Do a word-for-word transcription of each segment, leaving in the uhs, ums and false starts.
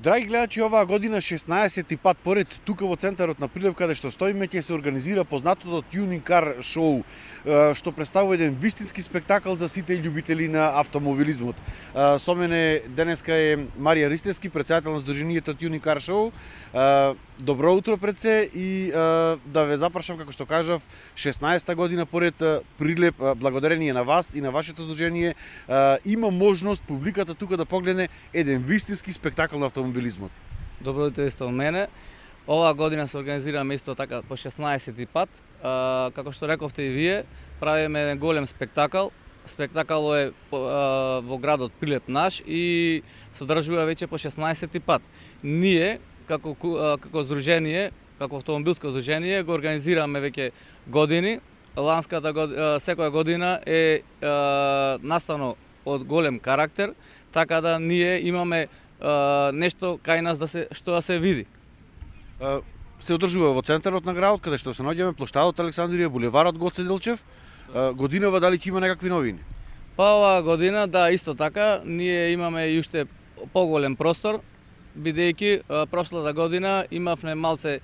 Драги гледачи, оваа година шеснаесети пат поред тука во центарот на Прилеп, каде што стоиме, ќе се организира познатото Tuning Car Show, што представува еден вистински спектакл за сите љубители на автомобилизмот. Со мене денеска е Марија Ристевски, претседател на Сдруженијето Tuning Car Show. Добро утро пред се и да ве запрашам, како што кажав, шеснаесета година поред Прилеп, благодарение на вас и на вашето здружение, има можност публиката тука да погледне еден вистински спектакл на автомобилизмот. Добро утро исто од мене. Оваа година се организираме исто така по шеснаесети пат. Како што рековте и вие, правиме еден голем спектакл. Спектакълот е во градот Прилеп наш и се одржува веќе по шеснаесети пат. Ние како како здружение, како автомобилско здружение го организираме веќе години. Ланската година, секоја година е, е настано од голем карактер, така да ние имаме е, нешто кај нас да се што да се види. Е, се одржува во центарот на градот, каде што се наоѓаме плоштадот Александрија, булеварот Гоце Делчев. Е, годинава дали ќе има некакви новини? Па оваа година да, исто така, ние имаме и уште поголем простор, бидејќи прошлата година имавме малце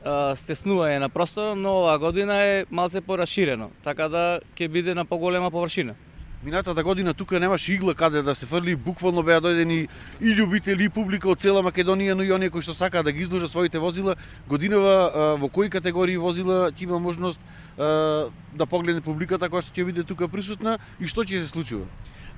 стеснување на простора, но оваа година е малце пораширено, така да ќе биде на поголема површина. Минатата година тука немаше игла каде да се фрли, буквално беа дојдени и љубители и публика од цела Македонија, но и оние кои што сакаат да ги изложат своите возила. Годинава во кои категории возила ќе има можност да погледне публиката која што ќе биде тука присутна и што ќе се случува?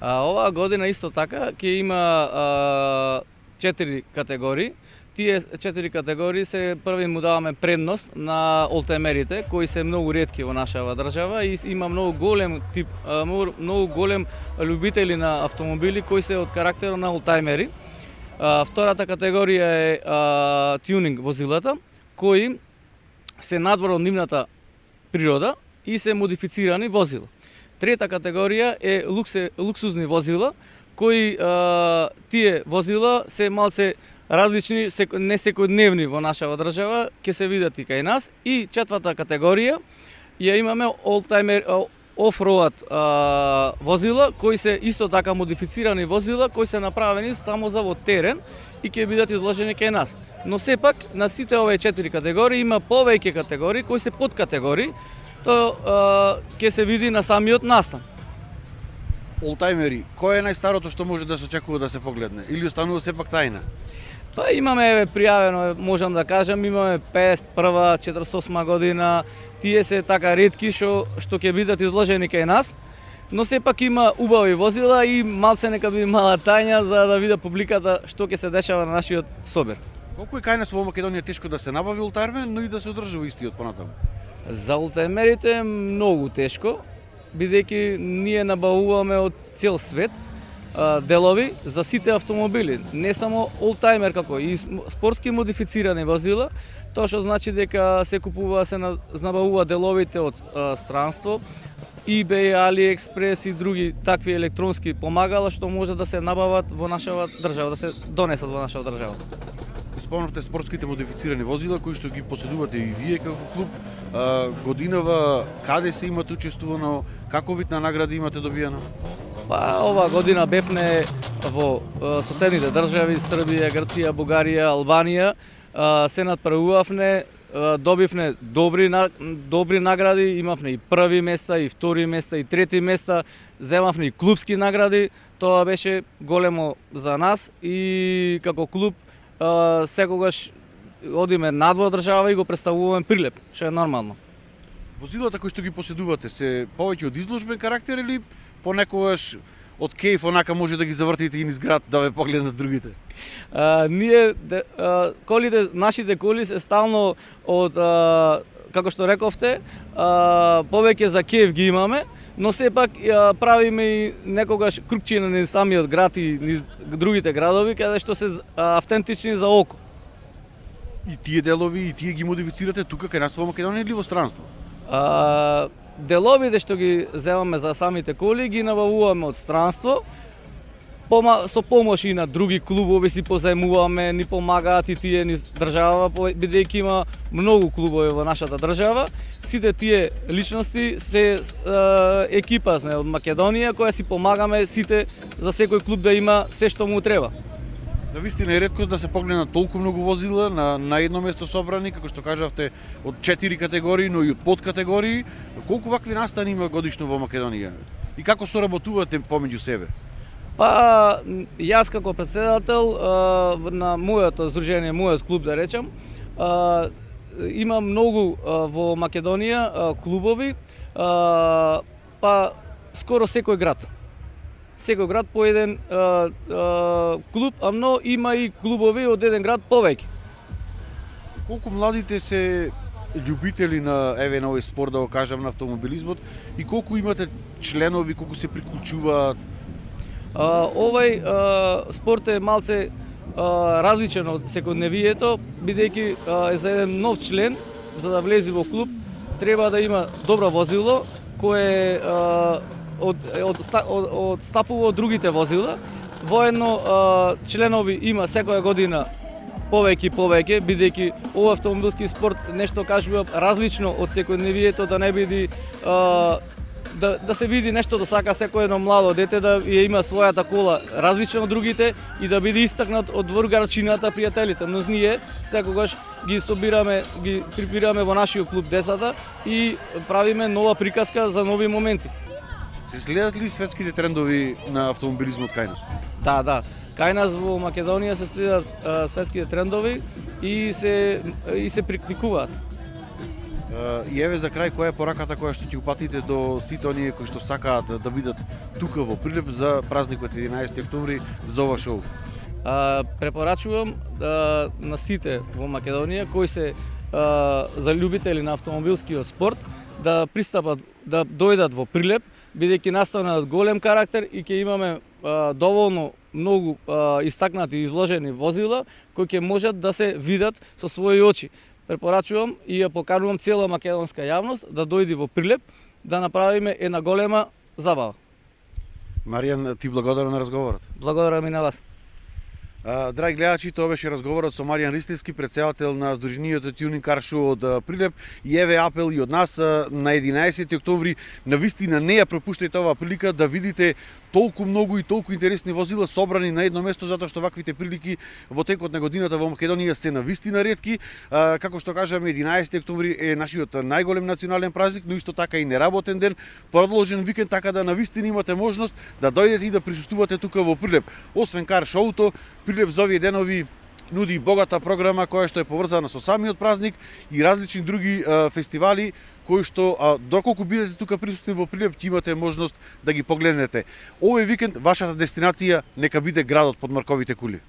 Оваа година исто така ќе има четири категории. Тие четири категории се први му даваме предност на олтајмерите, кои се многу ретки во нашава држава и има многу голем тип, многу голем љубители на автомобили кои се од карактерот на олтајмери. Втората категорија е а, тюнинг возилата, кои се надвор од нивната природа и се модифицирани возила. Трета категорија е луксе, луксузни возила, кои а, тие возила се малце различни, не секојдневни во нашава држава, ќе се видат и кај нас. И четврта категорија ја имаме олтајмер офроад возила, кои се исто така модифицирани возила, кои се направени само за во терен и ќе бидат изложени кај нас. Но сепак на сите овие четири категории има повеќе категории кои се подкатегории, тоа ќе се види на самиот настан. Олтајмери, кој е најстарото што може да се очекува да се погледне или останува сепак тајна? Па имаме пријавено, можам да кажам, имаме педесет и прва, четиридесет и осма година, тие се така ретки што што ќе бидат изложени кај нас, но сепак има убави возила и малце нека биде мала тајна за да види публиката што ќе се дешава на нашиот собир. Колку е кај нас во Македонија тешко да се набави олтајмер, но и да се одржува истиот понатаму? За олтајмерите е многу тешко, бидејќи ние набавуваме од цел свет делови за сите автомобили, не само олтајмер како и спортски модифицирани возила, тоа што значи дека се купува, се набавува деловите од а, странство, eBay, AliExpress и други такви електронски помагала што може да се набават во нашава држава, да се донесат во нашава држава. Спомнавте спортските модифицирани возила кои што ги поседувате и вие како клуб. А, годинава каде се имате учествувано, каков вид на награди имате добиено? Па оваа година бевме во соседните држави, Србија, Грција, Бугарија, Албанија, се надпревувавме, добивме добри добри награди, имавме и први места, и втори места, и трети места, земавме и клубски награди. Тоа беше големо за нас и како клуб секогаш одиме надвор држава и го представуваме Прилеп, што е нормално. Возилата кои што ги поседувате се повеќе од изложбен карактер или понекогаш од кејф онака може да ги завртите и низ град да ве погледнат другите? А, ние а, колите, нашите коли се стално од а, како што рековте, а, повеќе за кејф ги имаме, но сепак а, правиме и некогаш крупчина низ самиот град и низ другите градови каде што се а, автентични за око. И тие делови и тие ги модифицирате тука кај нас во Македонија или во странство? А, деловите што ги земаме за самите коли ги набавуваме од странство, Пома, со помош и на други клубови си позајмуваме, ни помагаат и тие низ држава, бидејќи има многу клубови во нашата држава. Сите тие личности се е, екипа од Македонија која си помагаме сите за секој клуб да има се што му треба. Навистина е реткост да се погледнат толку многу возила на, на едно место собрани, како што кажавте, од четири категории, но и од подкатегории. Колку вакви настани има годишно во Македонија? И како соработувате помеѓу себе? Па, јас како претседател на моето здружение, мојот клуб да речам, има многу во Македонија клубови, па скоро секој град. Секој град по еден а, а, клуб, а но има и клубови од еден град повеќе. Колку младите се љубители на еве на овој спорт, да го кажам, на автомобилизмот, и колку имате членови, колку се приклучуваат? А, овој а, спорт е малце а, различен од секојдневието, бидејќи е за еден нов член, за да влезе во клуб, треба да има добро возило, кое а, од од од, од стапува од другите возила. Воедно членови има секоја година повеќе и повеќе, бидејќи овој автомобилски спорт нешто кажува различно од секојдневието, да не биде а, да да се види нешто да сака секој едно младо дете да ја има својата кола различна од другите и да биде истакнат од дворгарчината, пријателите. Но ние секогаш ги собираме, ги прибираме во нашиот клуб децата и правиме нова приказка за нови моменти. Се следат ли светските трендови на автомобилизмот кај нас? Да, да. Кај нас во Македонија се следат а, светските трендови и се и се практикуваат. И еве за крај, која е пораката која што ќе упатите до сите оние кои што сакаат да видат тука во Прилеп за празникот единаесети октомври за ова шоу? А, препорачувам а, на сите во Македонија кои се а, за љубители на автомобилскиот спорт да пристапат, да дојдат во Прилеп, бидејќи настанат голем карактер и ќе имаме а, доволно многу а, истакнати и изложени возила кои ќе можат да се видат со своји очи. Препорачувам и ја поканувам цела македонска јавност да дојде во Прилеп да направиме една голема забава. Маријан, ти благодарам на разговорот. Благодарам и на вас. Драги гледачи, тоа беше разговорот со Маријан Ристевски, претседател на Сдруженијето Tuning Car Show од Прилеп. И еве апел и од нас на единаесети октомври. Навистина не ја пропуштајте оваа прилика да видите толку многу и толку интересни возила собрани на едно место, затоа што ваквите прилики во текот на годината во Македонија се навистина ретки. Како што кажаме, единаесети октомври е нашиот најголем национален празник, но исто така и неработен ден, продолжен викенд, така да навистина имате можност да дојдете и да присуствувате тука во Прилеп. Освен кар шоуто, Прилеп за овие денови нуди богата програма која што е поврзана со самиот празник и различни други а, фестивали кои што а, доколку бидете тука присутни во Прилеп ќе имате можност да ги погледнете. Овој викенд вашата дестинација нека биде градот под марковите кули.